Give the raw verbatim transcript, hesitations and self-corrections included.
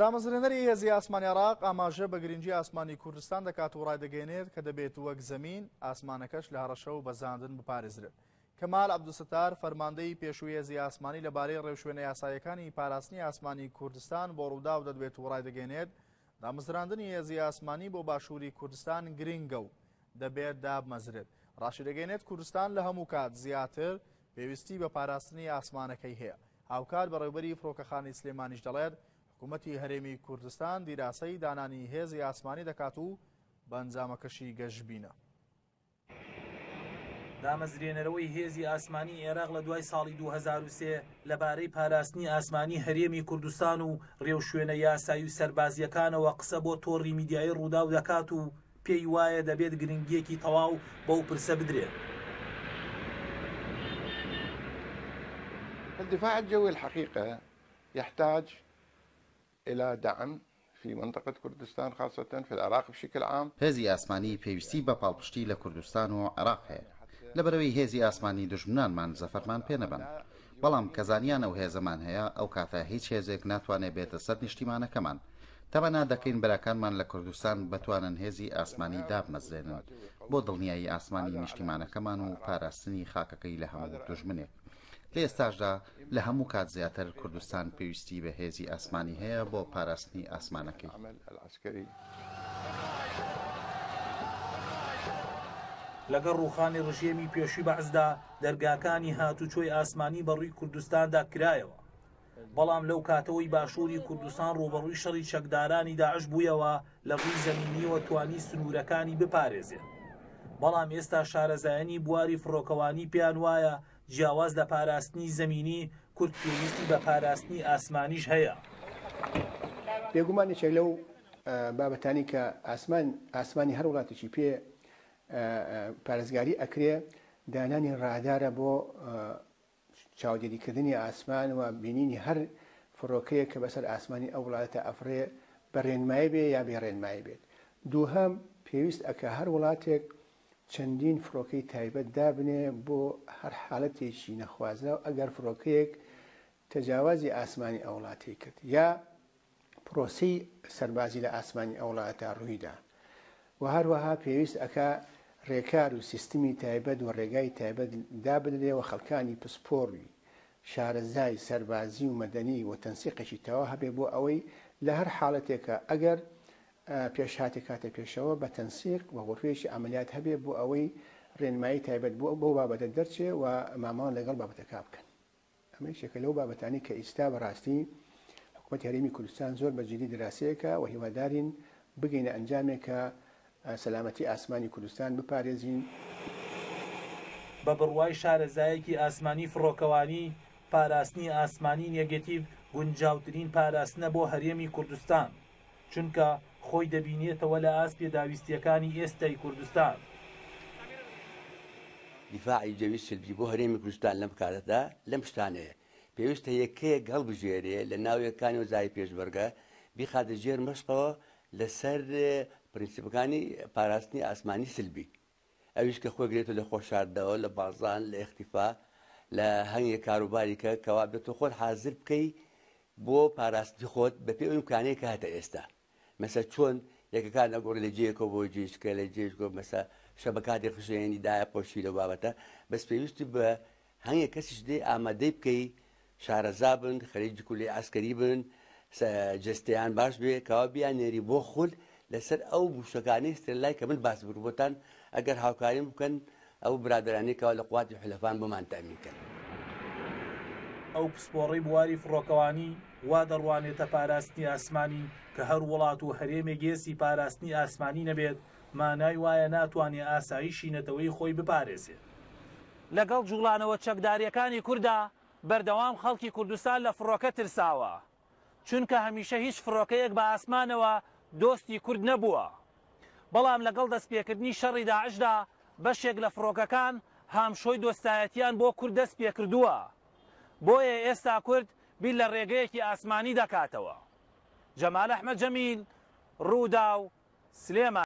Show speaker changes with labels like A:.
A: دامەزرێنەری هێزی ئاسمانی عێراق ئاماژە بە گرنگی ئاسمانی کوردستان دەکات و ڕایدەگەیەنێت کە دەبێت وەک زەمین ئاسمانەکەش لە هەڕەشە و بەزاندن بپارێزرێت. کەمال عەبدولستار فەرماندەی پێشووی هێزی ئاسمانی لەبارەی ڕێوشوێنە یاساییەکانی پاراستنی ئاسمانی کوردستان بۆ ڕووداو دەدوێت و ڕایدەگەیەنێت دامەزراندنی هێزی ئاسمانی بۆ باشووری کوردستان گرنگە و دەبێت دابمەزرێت. ڕاشیدەگەیەنێت کوردستان لە هەموو کات زیاتر پێویستی بە پاراستنی ئاسمانەکەی هەیە. هاوکات بەڕێوبەری فڕۆکەخانەی سلێمانیش دەڵێت حکوومەتی هەرێمی کوردستان دیراسەی دانانی هێزی ئاسمانی دەکات و بە ئەنجامەکەشی گەشبینە.
B: دامەزرێنەرەوەی هێزی ئاسمانی عێراق لە دوای ساڵی دوو هەزار و سێ لەبارەی پاراستنی ئاسمانی هەرێمی کوردستان و ڕێوشوێنە یاسایی و سەربازیەکانەوە قسە بۆ تۆڕی میدیایی ڕووداو دەکات و پێی وایە دەبێت گرنگیەکی تەواو بەو پرسە بدرێت.
C: الدفاع الجوي الحقيقة يحتاج إلى دعم في منطقة كردستان خاصة في العراق بشكل عام.
D: هێزی ئاسمانی پێویستی بە پاڵپشتی لە کوردستان و عێراق هەیە. لەبەرەوەی هێزی ئاسمانی دوژمنانمان زەفەرمان پێنەبەن، بەڵام کە زانیان ئەو هێزەمان هەیە ئەو کاتە هیچ هێزێک ناتوانێت بێتە سەر نیشتیمانەکەمان. تەمەنا دەکەین براکانمان لە کوردستان بتوانن هێزی ئاسمانی دابمەزرێنن بۆ دڵنیایی ئاسمانی نیشتیمانەکەمان و پاراستنی خاکەکەی لە هەموو دوژمنێک. لە ئێستاشدا لە هەموو کات زیاتر کوردستان پێویستی بە هێزی ئاسمانی هەیە بۆ پاراستنی ئاسمانەکەی.
B: لەگەڵ ڕوخانی ڕژێمی پێشووی بەعسدا دەرگاکانی هاتوچۆی ئاسمانی بەڕووی کوردستاندا کرایەوە، بەڵام لەو کاتەوەی باشووری کوردستان ڕووبەڕووی شەڕی چەکدارانی داعش بوویەوە لە ڕووی زەمینیەوە توانی سنوورەکانی بپارێزێت. بەڵام ئێستا شارەزایانی بواری فڕۆکەوانی پێیان وایە جیاواز لە پاراستنی زەمینی کورد پێویستی بە پاراستنی ئاسمانیش هەیە.
E: بێگومان یەکێک لەو بابەتانی کە ئاسمان ئاسمانی هەر وڵاتێکی پێ پارێزگاری ئەکرێ دانانی ڕادارە بۆ چاودێریکردنی ئاسمان و بینینی هەر فڕۆکەیە کە بەسەر ئاسمانی ئەو وڵاتە ئەفرێ بە ڕێنمایی بێ یا بێ ڕێنمایی بێت. دووهەم پێویست ئەکە هەر وڵاتێک چەندین فڕۆکەی تایبەت دابنێ بۆ هەر حاڵەتێکی نەخوازراو ئەگەر فڕۆکەیەک تەجاوازی ئاسمانی ئەو وڵاتەی کرد یا پرۆسەی سەربازی لە ئاسمانی ئەو وڵاتە ڕوویدا. و هەروەها پێویست ئەکا ڕێکار و سیستمی تایبەت و ڕێگای تایبەت دابنرێ و خەڵکانی پسپۆڕی شارەزای سەربازی و مەدەنی و تەنسیقێکی تەواو هەبێ بۆ ئەوەی لە هەر حاڵەتێکە ئەگەر پێشهاتێک هاتە پێشەوە بە تەنسیق و غرفەیەکی عەمەلیات هەبێ بۆ ئەوەی ڕێنمایی تایبەت بۆ بەو بابەتە دەرچێ و مامەڵە لەگەڵ بابەتەکە بکەن. ئەمە یەکێکە لەو بابەتانی کە ئیستا بەڕاستی حکوومەتی هەرێمی کوردستان زۆر بە جدی دراسەیەکە و هیوادارین بگەینە ئەنجامێک کە سەلامەتی ئاسمانی کوردستان بپارێزین.
B: بە بڕوای شارەزایەکی ئاسمانی فڕۆکەوانی، پاراستنی ئاسمانی نێگەتیڤ گونجاوترین پاراستنە بۆ هەرێمی کوردستان، چونکە خۆی دەبینێتەوە لە ئاست پێداویستیەکانی ئێستای کوردستان.
F: دیفاعی جەوی سلبی بۆ هەرێمی کوردستان لەم کاتەدا لەم شتانەیە پێویستە یەکەیەک هەڵبژێرێ لە ناویەکانی وەزاری پێشمەرگە بیخاتە ژێر مەشقەوە لەسەر پرینسیپەکانی پاراستنی ئاسمانی سلبی، ئەویش کە خۆی گرێتەوە لە خۆشاردنەوە، لە بازان، لە ئیختیفا، لە هەنگێک کاروباری کە کەوا بێت تۆ خۆت حازر بکەی بۆ پاراستنی خۆت بەپێی ئەو ئیمکانەیە کە هەتە ئێستا. مەسە چۆن یەکەکان ئەگۆڕی لە جێیەکەوە بۆ جێیشکە لە جێیشکەوە، مەسە شەبەکاتی خشێنی دایە پۆشی لەو بابەتە، بەس پێویستی بە هەنگێک کەسیش دێ ئامادەی بکەی شارەزا بن، خەریکی کولی عەسکەری بن، جەستەیان باش بێ، کەوا بیان نێری بۆ خول لەسەر ئەو موشەکانەی سترلای کە من باس بکرد بۆتان، ئەگەر هاوکاریم بکەن ئەو برادرانی کەوا لە قواتی حولەفان بۆمان تەئمین کەن.
B: ئەو پسپۆڕەی بواری فڕۆکەوانی وا دەڕوانێتە پاراستنی ئاسمانی کە هەر وڵات و هەرێمێک هێزی پاراستنی ئاسمانی نەبێت، مانای وایە ناتوانێت ئاسایشی نەتەوەی خۆی بپارێزێت. لەگەڵ جوڵانەوە چەکداریەکانی کووردا بەردەوام خەڵکی کوردستان لە فڕۆکە ترساوە، چونکە هەمیشە هیچ فڕۆکەیەک بە ئاسمانەوە دۆستی کورد نەبووە. بەڵام لەگەڵ دەستپێکردنی شەڕی داعشدا بەشێک لە فڕۆکەکان هامشۆی دۆستایەتیان بۆ کورد دەست پێکردووە، بۆیە ئێستا کورد بیر لە ڕێگەیەکی ئاسمانی دەکاتەوە. جەمال ئەحمەد جەمیل، ڕووداو، سلێمان.